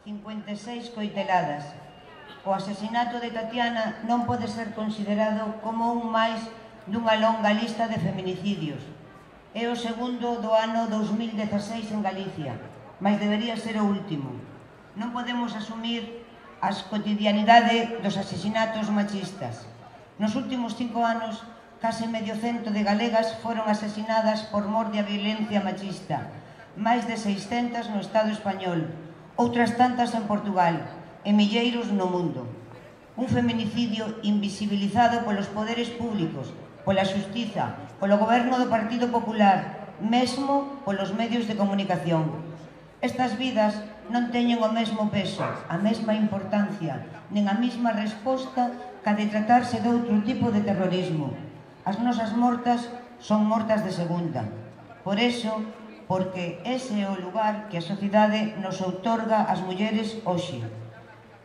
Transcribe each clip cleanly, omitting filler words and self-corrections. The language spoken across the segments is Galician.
56 coiteladas. O asesinato de Tatiana non pode ser considerado como un máis dunha longa lista de feminicidios. É o segundo do ano 2016 en Galicia, mas debería ser o último. Non podemos asumir a cotidianidade dos asesinatos machistas. Nos últimos 5 anos, case medio cento de galegas foron asesinadas por mor de violencia machista, máis de 600 no Estado español, outras tantas en Portugal, e milleiros no mundo. Un feminicidio invisibilizado polos poderes públicos, pola xustiza, polo goberno do Partido Popular, mesmo polos medios de comunicación. Estas vidas non teñen o mesmo peso, a mesma importancia, nen a mesma resposta ca de tratarse de outro tipo de terrorismo. As nosas mortas son mortas de segunda. Por eso, porque ese é o lugar que a sociedade nos outorga ás mulleres hoxe.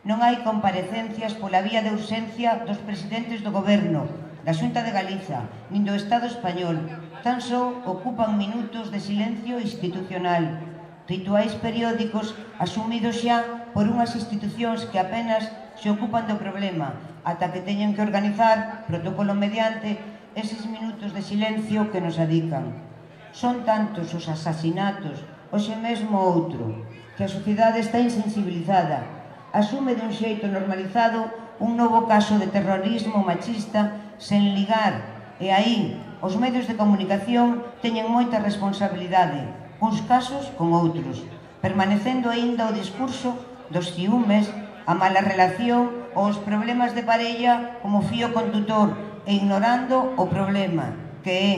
Non hai comparecencias pola vía de urxencia dos presidentes do Goberno, da Xunta de Galiza, nin do Estado español. Tan só ocupan minutos de silencio institucional, rituais periódicos asumidos xa por unhas institucións que apenas se ocupan do problema, ata que teñen que organizar, protocolo mediante, eses minutos de silencio que nos adican. Son tantos os asasinatos, hoxe mesmo outro, que a sociedade está insensibilizada, asume de un xeito normalizado un novo caso de terrorismo machista sen ligar, e aí os medios de comunicación teñen moita responsabilidade, uns casos con outros, permanecendo aínda o discurso dos ciúmes, a mala relación ou os problemas de parella como fío condutor e ignorando o problema, que é: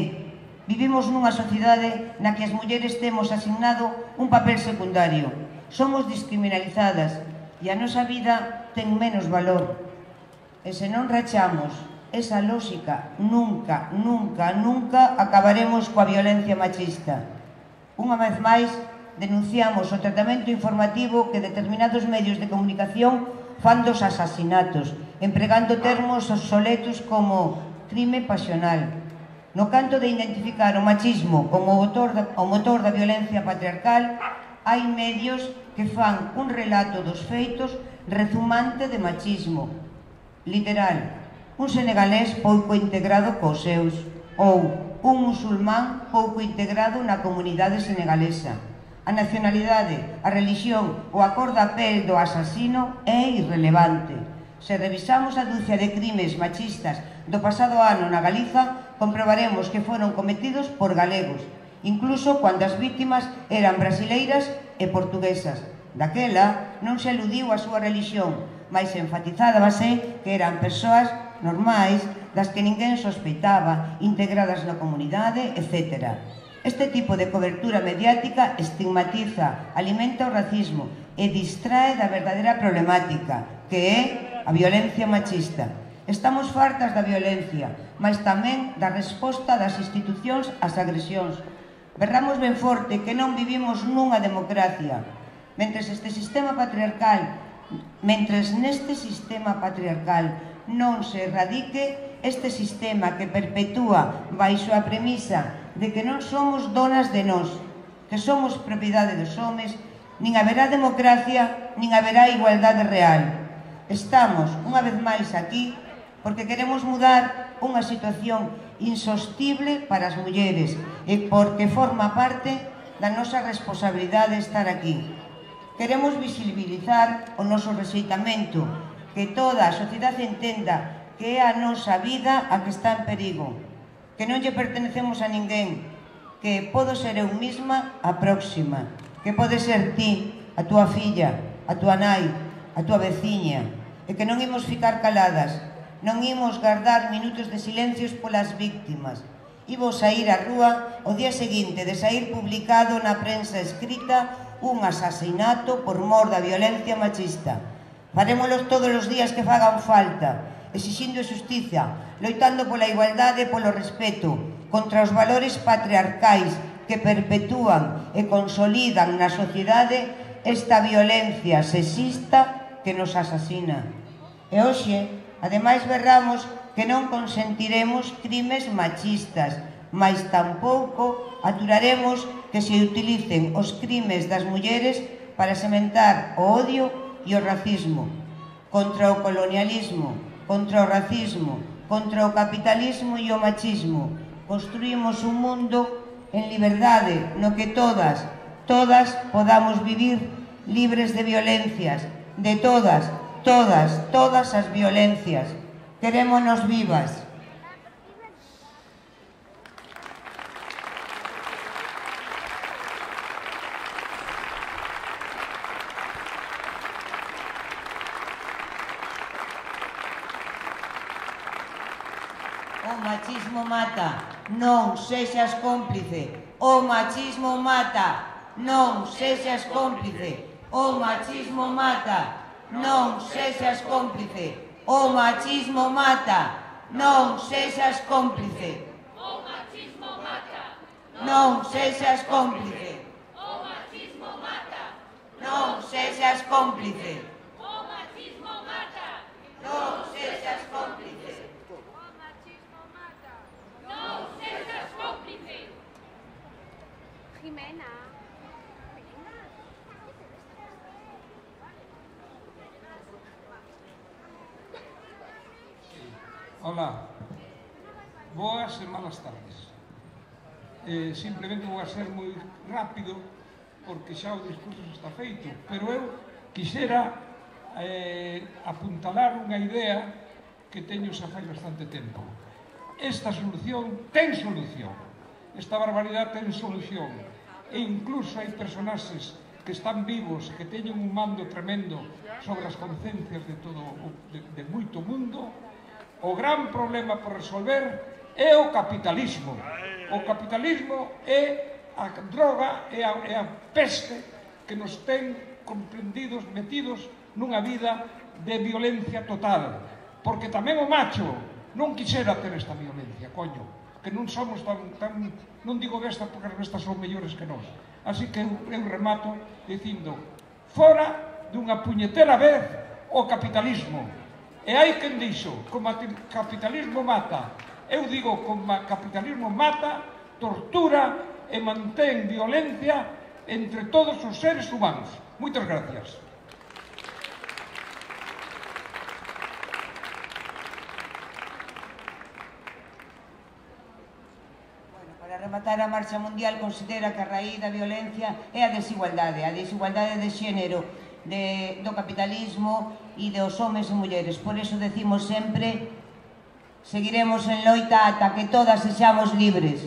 vivimos nunha sociedade na que as mulleres temos asignado un papel secundario, somos descriminalizadas e a nosa vida ten menos valor. E se non rachamos esa lógica, nunca, nunca, nunca acabaremos coa violencia machista. Unha vez máis, denunciamos o tratamento informativo que determinados medios de comunicación fan dos asasinatos, empregando termos obsoletos como crime pasional. No canto de identificar o machismo como o motor da violencia patriarcal, hai medios que fan un relato dos feitos rezumante de machismo. Literal, un senegalés pouco integrado cos seus, ou un musulmán pouco integrado na comunidade senegalesa. A nacionalidade, a religión ou a cor da pel do asasino é irrelevante. Se revisamos a dúcia de crimes machistas do pasado ano na Galiza, comprobaremos que foron cometidos por galegos, incluso cando as vítimas eran brasileiras e portuguesas. Daquela non se aludiu a súa religión, mas enfatizábase que eran persoas normais, das que ninguén sospeitaba, integradas na comunidade, etc. Este tipo de cobertura mediática estigmatiza, alimenta o racismo e distrae da verdadeira problemática, que é a violencia machista. Estamos fartas da violencia, mas tamén da resposta das institucións ás agresións. Berramos ben forte que non vivimos nunha democracia. Mentres neste sistema patriarcal non se erradique este sistema que perpetúa baixo a premisa de que non somos donas de nós, que somos propiedade dos homes, nin haberá democracia, nin haberá igualdade real. Estamos, unha vez máis, aquí porque queremos mudar unha situación insostible para as mulleres e porque forma parte da nosa responsabilidade estar aquí. Queremos visibilizar o noso rexeitamento, que toda a sociedade entenda que é a nosa vida a que está en perigo, que non lle pertenecemos a ninguén, que podo ser eu mesma a próxima, que pode ser ti, a túa filla, a túa nai, a túa veciña, e que non imos ficar caladas, non imos guardar minutos de silencios polas víctimas. Imos sair á rúa o día seguinte de sair publicado na prensa escrita un asasinato por mor da violencia machista. Farémolos todos os días que fagan falta, exixindo xustiza, loitando pola igualdade e polo respeto, contra os valores patriarcais que perpetúan e consolidan na sociedade esta violencia sexista que nos asasina. E hoxe, ademais, berramos que non consentiremos crimes machistas, mais tampouco aturaremos que se utilicen os crimes das mulleres para sementar o odio e o racismo, contra o colonialismo, contra o racismo, contra o capitalismo e o machismo. Construímos un mundo en liberdade no que todas podamos vivir libres de violencias, de todas as violencias. Querémonos vivas. O machismo mata, non sexas cómplice. O machismo mata, non sexas cómplice. O machismo mata, non sexas cómplice. O machismo mata, non sexas cómplice. O machismo mata, non sexas cómplice. O machismo mata, non sexas cómplice. O machismo mata, non sexas cómplice. Jimena. Hola, boas e malas tardes. Simplemente vou a ser moi rápido porque xa o discurso está feito, pero eu quixera apuntalar unha idea que teño xa fai bastante tempo. Esta solución ten solución. Esta barbaridade ten solución. E incluso hai personaxes que están vivos, que teñen un mando tremendo sobre as conciencias de todo, de moito mundo. O gran problema por resolver é o capitalismo. O capitalismo é a droga, é a peste que nos ten comprendidos, metidos nunha vida de violencia total. Porque tamén o macho non quixera ter esta violencia, coño, que non somos tan non digo bestas porque as bestas son mellores que nós. Así que eu remato dicindo, fora dunha puñetera vez o capitalismo. E hai quen dixo, como o capitalismo mata, eu digo, como o capitalismo mata, tortura e mantén violencia entre todos os seres humanos. Moitas gracias. Para rematar, a Marcha Mundial considera que a raíz da violencia é a desigualdade de xénero, do capitalismo e dos homes e mulleres. Por iso decimos sempre, seguiremos en loita ata que todas sexamos libres.